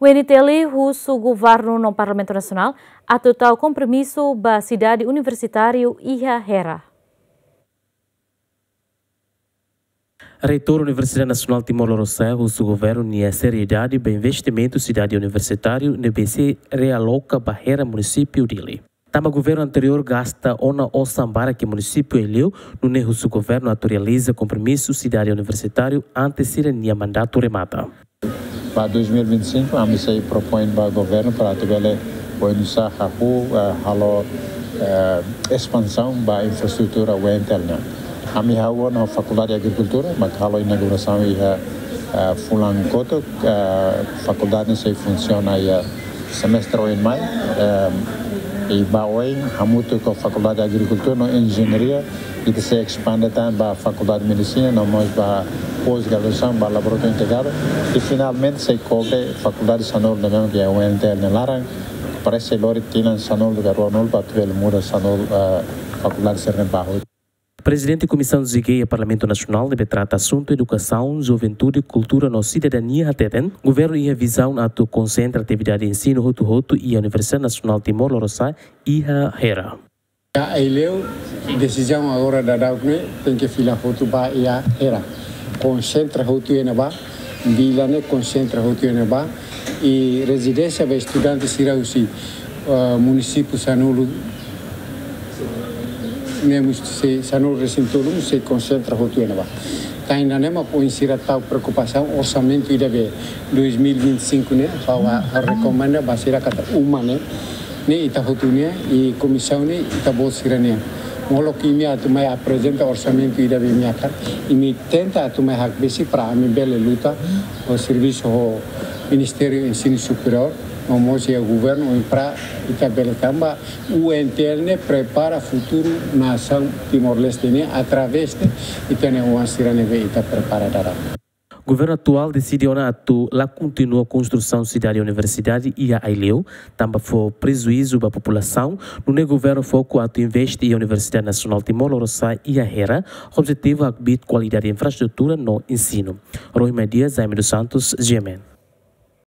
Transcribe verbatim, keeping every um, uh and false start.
U N T L husu governu no Parlamentu Nasionál atu tau kompromisu ba sidade universitáriu iha Hera. Reitór Universidade Nasionál Timor Lorosa'e husu governu nia seriedade ba investimentu sidade universitáriu ne'ebé sei realoka ba Hera, munisípiu Dili. Tanba governu anteriór gasta ona osan barak iha munisípiu Aileu, nune'e husu governu atu realiza kompromisu sidade universitáriu antes sira-nia mandatu remata. Ba dois mil e vinte e cinco, ami sei propoin ba governu para atu bele oinsá hahú, eh, halo, eh, espansaun ba infraestrutura U N T L nian. Ami hahú ona Fakuldade Agrikultura, mak halo inaugurasaun iha, eh, fulan kotuk, eh, fakuldade sei funsiona iha semestre oin mai, eh, i ba oin hamutuk ho Fakuldade Agrikultura no Enjeñaria, ita sei espande tan ba Fakuldade Medisina, no mós ba pós-graduasaun, ba laboratóriu integradu, i finalmente sei kobre fakuldade sanulu ne'ebé mak iha U N T L nia laran, parese lori tinan sanulu ka ruanulu para atu bele muda sanulu, eh, fakuldade sira-ne'e ba hotu. Prezidente Komisaun Zigai iha Parlamentu Nasionál ne'ebé trata asuntu edukasaun, juventude, kultura no sidadania hateten, governu iha vizaun atu konsentra atividade ensinu hotu-hotu iha Universidade Nasionál Timor Lorosa'e iha Hera. Iha Aileu, desizaun agora daudauk ne'e tenke fila hotu ba iha Hera. Konsentra hotu iha ne'ebá, vila ne'e konsentra hotu iha ne'ebá, i rezidénsia ba estudante sira husi, eh, munisípiu sanulu ne'e mós sei, sanulu resin tolu mós sei konsentra hotu iha ne'ebá. Tan ne'e mak ohin sira tau preokupasaun orsamentu ida be dois mil e vinte e cinco ne'e, ha'u, ha'u rekomenda ba sira katak uma ne'e, ne'e ita hotu ne'e, i komisaun ne'e ita-boot sira-nian. Molok imi atu mai aprezenta orsamentu ida be imi hakarak, imi tenta atu mai hakbesik para ami bele luta ho servisu ho Ministériu Ensinu Superiór, no mós iha governu, para ita bele tanba U N T L ne'e prepara futuru nasaun Timor-Leste ne'e através de ita-nia oan sira ne'ebé ita prepara daudaun. Governu atuál deside ona atu la kontinua konstrusaun sidade universidade iha Aileu, tanba fó prejuízu ba populasaun, nune'e governu foku atu investe iha Universidade Nasionál Timor Lorosa'e iha Hera, objetivu hakbiit kualidade infraestrutura no ensinu. Rohima Dias, Jaime dos Santos, G M N.